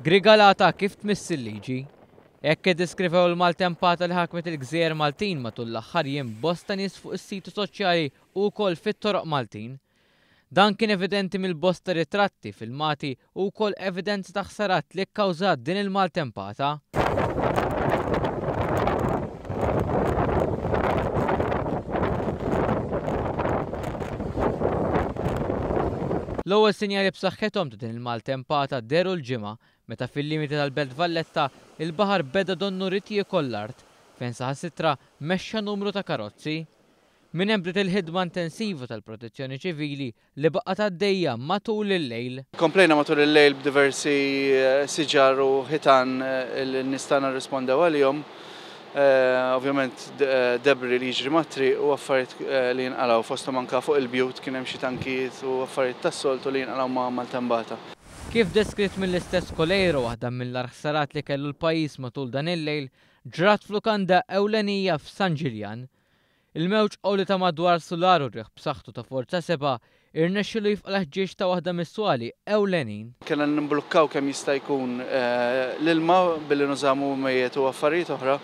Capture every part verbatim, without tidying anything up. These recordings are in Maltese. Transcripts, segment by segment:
Grigalata kif tmiss il-liġi. Hekk iddeskrivew il-maltempata li ħakmet il-gżejjer Maltin matul l-aħħar jiem bosta nies fuq is-siti soċjali u wkoll fit-toroq Maltin. Dan kien evidenti mill-bosta ritratti, filmati u wkoll evidenza ta' ħsarat li kkawżat din il-maltempata. L-ewwel sinjali b'saħħithom ta' din il-maltempata dehru l-Ġimgħa meta fil-limiti tal-Belt Valletta il-baħar beda donnu ried jiekol l-art fejn saħansitra mexxa numru ta' karozzi. Minn hemm bdiet il-ħidma intensiva tal-Protezzjoni Ċivili li baqgħet għaddejja matul il-lejl. Komplejna matul il-lejl b'diversi siġar u ħitan li n-nies tagħna rrispondew għalihom. Ovvjament debris li jiġri mat-triq u affarijiet li jinqalgħu fosthom anke fuq il-bjut kien hemm xi tankijiet u affarijiet tas-soltu li jinqalgħu ma' maltempata. Kif deskritt mill-istess Coleiro, waħda mill-agħar ħsarat li kellu l-pajjiż matul dan il-lejl ġrat f'lukanda ewlenija f'San Ġiljan. Il-mewġ qawwi ta' madwar sular u riħ b'saħħtu ta' forza seba' irnexxielu jifqa' l-ħġieġ ta' waħda mis-swali ewlenin. Kellna nimblukkaw kemm jista' jkun l-ilma billi nużamu mejjet u affarijiet oħra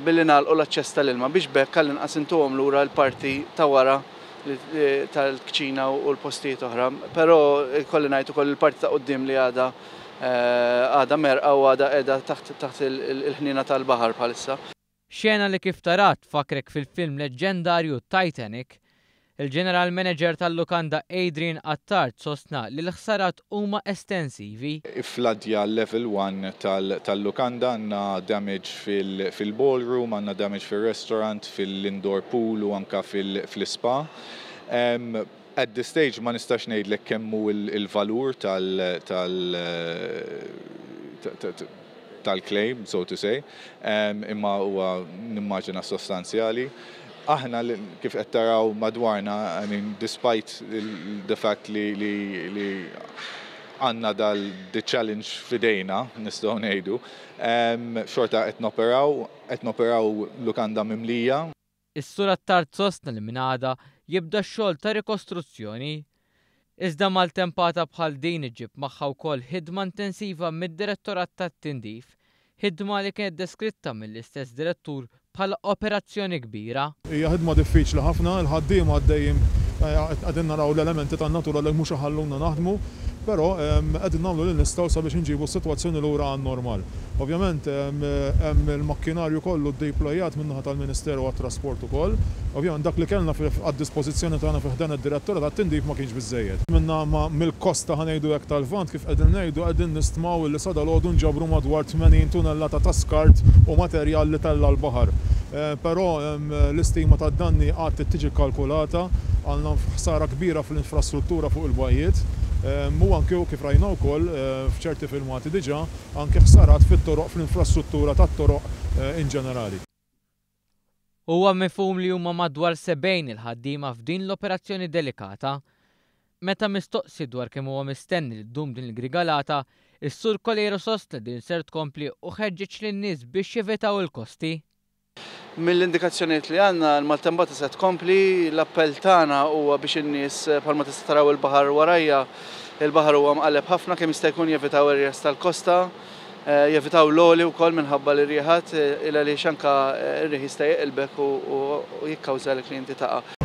billi nagħlqu l-aċċess tal-ilma biex b'hekk għall-inqas intuhom lura l-parti ta' wara tal-kċina u l-postijiet oħra. Però ikolli ngħid ukoll il-parti ta' quddiem li għadha għadha merqa u għadha qiegħda taħt il-ħniena tal-baħar bħalissa. Xena li kif tarat fakrek fil-film leġġendarju Titanic. Il-General Manager tal-lukanda Adrian Attard sostna li l-ħsarat huma estensivi. Ifladja level one tal-lukanda, għandna damage fil-ballroom, għandna damage fil-restaurant, fil-indoor pool u anka fil-spa. At this stage ma nistax ngħidlek kemm hu il-valur tal-claim, so to say, imma huwa nimmaġina sostanzjali. Aħna kif qed taraw madwarna, I mean, despite the fact li li għandna dal the challenge f'idejna, nistgħu ngħidu, xorta qed noperaw, qed noperaw lukanda mimlija. Is-Sur Attard sostna li minn għada jibda x-xogħol ta' rikostruzzjoni. Iżda maltempata bħal din iġib magħha wkoll ħidma intensiva mid-Direttorat tat-Tindif, ħidma li kienet deskritta mill-istess direttur bħala operazzjoni kbira. Hija ħidma diffiċli ħafna, il-ħaddiema għaddejjin qegħdin naraw l-elementi tan-natura li mhux iħalluna naħdmu, però qegħdin nagħmlu li nistgħu sabiex inġibu s-sitwazzjoni lura għan-normal. Ovvjament hemm il-makkinarju kollu ddeployat min-naħa tal-Ministeru għat-Trasport ukoll. Ovvjament dak li kellna għad-dispożizzjoni tagħna fi ħdan id-direttorat tat-tindif ma kienx biżejjed. Minna mill-kosta ħa ngħidu hekk tal-Lvant kif qegħdin ngħidu qegħdin nistmaw li sa dalgħodu nġabru madwar tmenin tunellata ta' skart u materjal li tella l-baħar. Però l-istima tad-danni għad tiġi kkalkulata, għandna ħsara kbira fl-infrastruttura fuq il-bajjiet. U anke kif rajna wkoll f'ċerti filmati diġà anke ħsarat fit-toroq fl-infrastruttura tat-toroq in ġenerali. Huwa mifhum li huma madwar sebgħin il-ħaddiema f'din l-operazzjoni delikata. Meta mistoqsi dwar kemm huwa mistenni li ddum din il-grigalata, is-Sur Coleiro sostna din ser tkompli u ħeġġeġ lin-nies biex jevitaw il-kosti. Mill-indikazzjonijiet li għandna l-maltempata se tkompli, l-appell tagħna huwa biex in-nies bħalma tista' taraw il-baħar warajja, il-baħar huwa mqalleb ħafna kemm jista' jkun jevitaw ir-riħ tal-kosta, jevitaw l-għoli wkoll minħabba li rieħat il għaliex anke r-riħ jista' jeqilbek u jikkawża li inti taqa'.